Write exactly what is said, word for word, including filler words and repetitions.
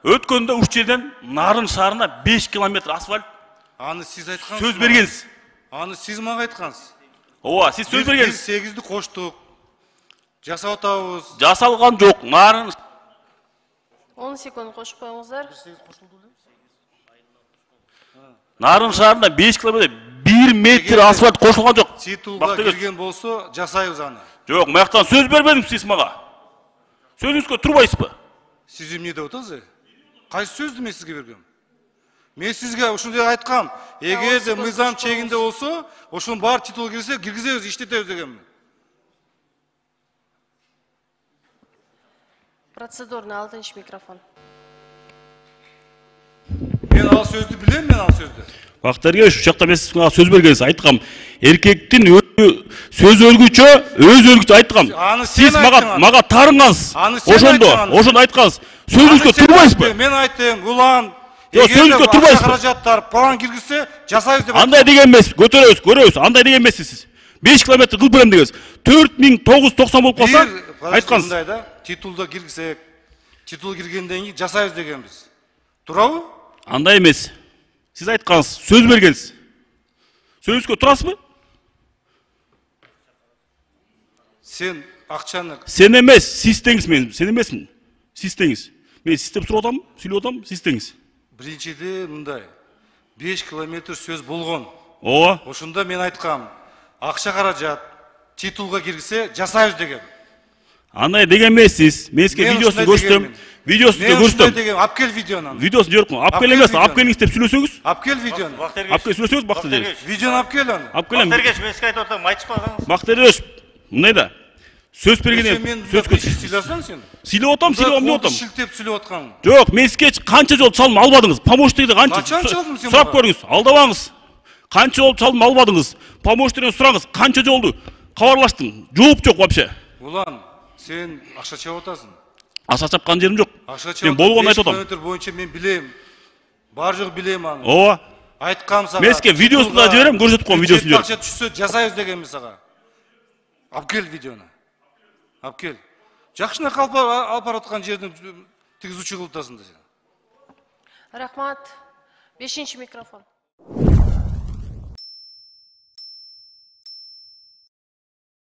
Өткөндө уч жерден Нарын шаарына беш километр асфальт. Аны сиз айткансыз. Сөз бергенсиз. Аны сиз мага айткансыз. Ооба, сиз сөз бергенсиз. Биз сегизди коштук. Жасап атабыз. Жасалган жок. Нарын он секунд кошуп коюңуздар. Нарын шаарына беш километр бир метр асфальт кошулган жок. Титулга кирген болсо, жасайбыз аны. Жок, маяктан сөз бербедиңиз сиз мага. Сөзүңүзгө турбайсызбы? Сиз эмне деп атасыз? Кайсы сөздү мен сизге бергем? Мен сизге ушундай айткам. Эгерде мыйзам чегинде болсо, ошонун бар титул кирсе, киргизебиз, иштетебиз дегенмин. Процедурный алтынчы микрофон. Мен ал сөздү билем, мен ал сөздү. Бактарга ушу жакта мен сизге сөз бергенсиз айткам. Эркектин сөз өлгүчө, өз өлгүчө айткам. Сиз мага мага тарынгансыз. Ошондо, ошондо айткансыз. Сөзүңүзгө турбайсызбы? Мен айттым, улан. Жок, сөзүңүзгө турбайсызбы? Каражаттар план киргизсе, жасайбыз деп. Андай деген эмес, көтөрөбүз, көрөбүз. Андай деген эмес сиз. беш километр кылып берем дегенсиз. төрт миң тогуз жүз токсон болуп калса, айткансыз. Мындай да, титулда киргизсек, титул киргенден кийин жасайбыз дегенбиз. Турабы? Андай эмес. Сиз айткансыз, сөз бергенсиз. Сөзүңүзгө турасызбы? Сен акчаны. Сен эмес, сиз теңиз мен. Сен эмесмин. Сиз теңиз. Мен сиз деп сурап атам, сүйлөп атам, сиз теңиз. Биринчиде мындай. беш километр сөз болгон. Ооба. Ошондо мен айткам, акча каражат титулга киргизе жасайбыз деген. Андай деген эмес сиз. Мен сизге видеосун көрсөтөм. Видеосун көрсөтөм. Мен алып кел видеону. Видеосун жок му? Алып кел эмес, алып келиңиз деп сүйлөсөңүз. Алып кел видеону. Алып кел сүйлөсөңүз Бактырбек. Видеону алып кел аны. Алып келем. Бактырбек, мен сизге айтып атам, айтышпасаңыз. Бактырбек, мындай да. Сөз бергенде сөз сүйлөсөң сен. Сүйлөп атам, сүйлөп эмне атам? Шилтеп сүйлөп аткан. Жок, мен сизге канча жол чалым албадыңыз? Помощникти канча? Сурап көрүңүз, алдабаңыз. Канча жол чалым албадыңыз? Помощниктен сураңыз, канча жолду кабарлаштым? Жооп жок вообще. Улан, сен акча чап атасың. Акча чапкан жерим жок. Мен болгонун айтып атам. Километр боюнча мен билем. Бар жок билем аны. Ооба. Айткам сага. Мен сизге видеосун да жиберем, көрсөтүп коем видеосун жиберем. Акча түшсө жасайбыз дегенмин сага. Алып кел видеону. Алып кел. Жакшына калып алып бараткан жерден тигиз учу кылып атасың да сен. Рахмат. бешинчи микрофон.